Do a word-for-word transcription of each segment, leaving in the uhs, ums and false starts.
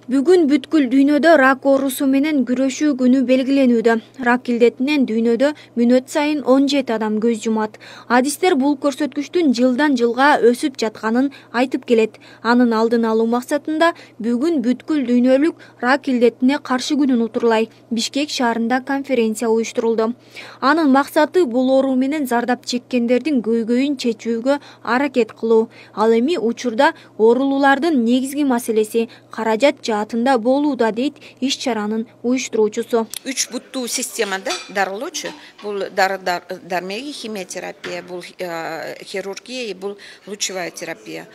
Бүгүн бүткүл дүйнөдө рак оорусу менен күрөшүү күнү белгиленүүдө. Рак илдетинен дүйнөдө мүнөт сайын он жети адам көз жумат. Адистер бул көрсөткүчтүн жылдан жылга өсүп жатканын айтып келет. Анын алдын алуу максатында бүгүн бүткүл дүйнөлүк рак илдетине каршы күнүн утурлай Бишкек шаарында конференция уюштурулду. Анын максаты бул оору менен зардап чеккендердин көйгөйүн чечүүгө аракет кылуу. Ал эми учурда оорулуулардын негизги маселеси каражат жаатында болууда, дейт иш чаранын уюштуруучусу. Үч буттуу системада дарылоочу. Бул дары дармеги, химиотерапия, бул хирургия, бул лучевая терапия.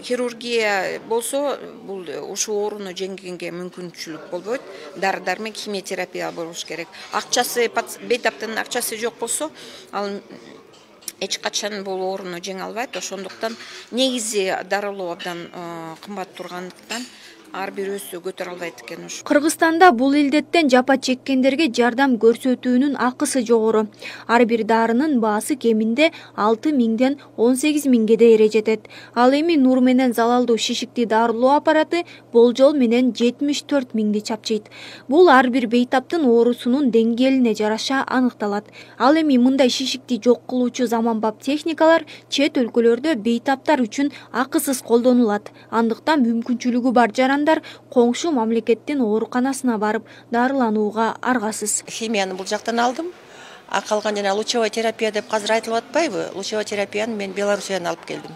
Хирургия болсо бул ушул ооруну жеңгенге мүмкүнчүлүк болбойт. Дары дармек, химиотерапия болуш керек. Акчасы, бейтаптын акчасы жок болсо, ал эч качан бул ооруну жеңе албайт. Ошондуктан негизи дарылоо абдан кымбат тургандыктан ар бирөөсү көтөрө албайт экен. Кыргызстанда бул илдеттен жапа чеккендерге жардам көрсөтүүнүн акысы жогору. Ар бир дарынын баасы кеминде алты миңден он сегиз миңге дейре жетет. Ал эми нур менен залалдуу шишикти дарылоо аппараты болжол менен жетимиш төрт миңди чапчыйт. Бул ар бир бейтаптын оорусунун деңгээлине жараша аныкталат. Ал эми мындай шишикти жок кылуучу заманбап техникалар чет өлкөлөрдө бейтаптар үчүн акысыз колдонулат. Андыктан мүмкүнчүлүгү бар жаран коңшу мамлекеттин ооруканасына барып дарыланууга аргасыз. Химияны бул жактан алдым. А калган жана лучевая терапия деп азыр айтылып атпайбы? Лучевая терапияны мен Белоруссиядан алып келдим.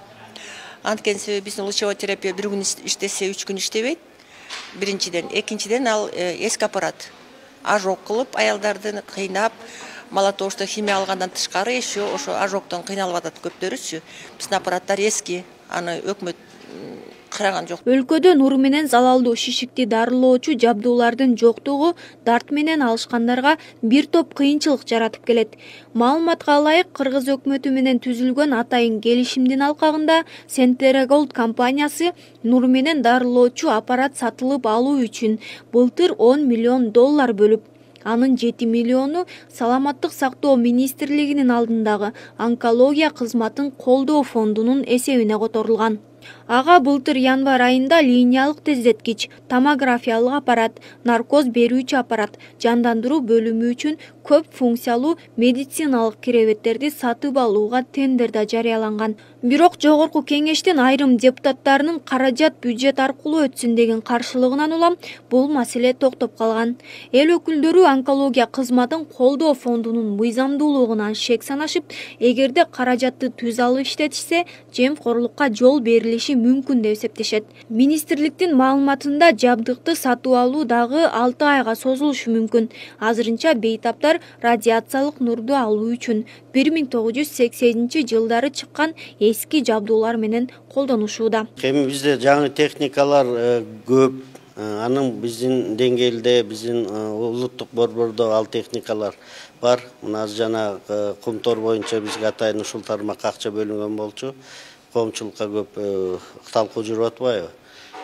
Анткени себеби биздин лучевая терапия бир күн иштесе, үч күн иштебейт. Биринчиден, экинчиден ал эски аппарат. Ожог кылып, аялдарды кыйнап, мала того, что химия алгандан тышкары еще ошо ожогдон кыйналып атат көптөрүчү. Биздин аппараттар эски, аны өкмөт караган жок. Өлкөдө нур менен залалдуу шишикти дарылоочу жабдуулардын жоктугу дарт менен алышкандарга бир топ кыйынчылык жаратып келет. Маалыматка ылайык, Кыргыз өкмөтү менен түзүлгөн атайын келишимдин алкагында Centeregold компаниясы нур менен дарылоочу аппарат сатылып алуу үчүн былтыр он миллион доллар бөлүп, анын жети миллиону Саламаттык сактоо министрлигинин алдындагы онкология кызматын колдоо фондунун эсебине которулган. Ага былтыр январь айында линиялык тездеткич, томографиялык аппарат, наркоз берүүчү аппарат, жандандыруу бөлүмү үчүн көп функциялуу медициналык киребеттерди сатып алууга тендер да жарыяланган. Бирок жогорку кеңештин айрым депутаттарынын каражат бюджет аркылуу өтсүн деген каршылыгынан улам бул маселе токтоп калган. Эл өкүлдөрү онкология кызматын колдоо фондунун мыйзамдуулугунан шек санашып, эгерде каражатты түз алып иштетишсе, жемкорлукка жол берилиши мүмкүн деп эсептешет. Министрликтин маалыматында жабдыкты сатып алуу дагы алты айга созулушу мүмкүн. Азырынча бейтаптар радиациялык нурду алуу үчүн бир миң тогуз жүз сексенинчи жылдары чыккан эски жабдуулар менен колдонушууда. Эми бизде жаңы техникалар көп. Анын биздин деңгээлде, биздин улуттук борбордо ал техникалар бар. Мына жана Кумтор боюнча бизге атайын ушул тармакка акча бөлүнгөн болчу. Коомчулукка көп талкуу жүрүп атпайбы?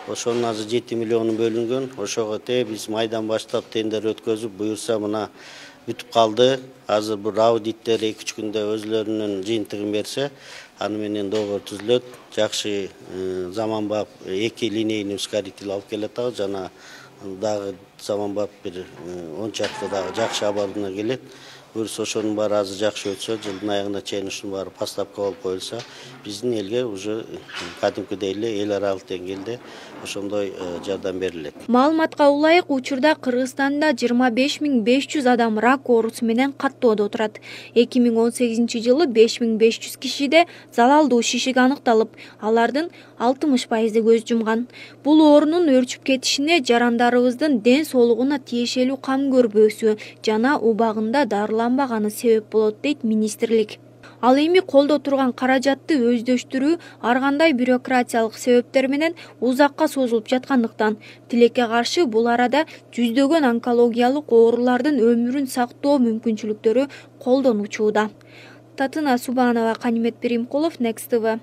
Ошонун азыр жети миллиону бөлүнгөн. Ошого те биз майдан баштап тендер өткөзүп, буюрса мына бүтүп калды. Азыр бул аудиттер эки үч күндө өзлөрүнүн жыйынтыгын берсе, аны менен договор түзүлөт. Жакшы заманбап эки линейный ускоритель алып келатабыз, жана дагы заманбап бир он чакты дагы жакшы оборудование келет. Буюрса ошонун баары азыр жакшы өтсө, жылдын аягына чейин ушунун баары поставка болуп коюлса, биздин элге уже кадимкидей эле эл аралык деңгээлде ошондой жардам берилет. Маалыматка ылайык, учурда Кыргызстанда жыйырма беш миң беш жүз адам рак оорусу менен каттоодо отурат. эки миң он сегизинчи жылы беш миң беш жүз кишиде залалдуу шишик аныкталып, алардын алтымыш пайызы көз жумган. Бул оорунун өрчүп кетишине жарандарыбыздын ден соолугуна тиешелүү кам көрбөөсү жана убагында дарыланбаганы себеп болот, дейт министрлик. Ал эми колдо турган каражатты өздөштүрүү ар кандай бюрократиялык себептер менен узакка созулуп жаткандыктан, тилекке каршы бул арада жүздөгөн онкологиялык оорулардын өмүрүн сактоо мүмкүнчүлүктөрү колдонучууда. Татына Субанова, Канимет Перимкулов, Next ти ви.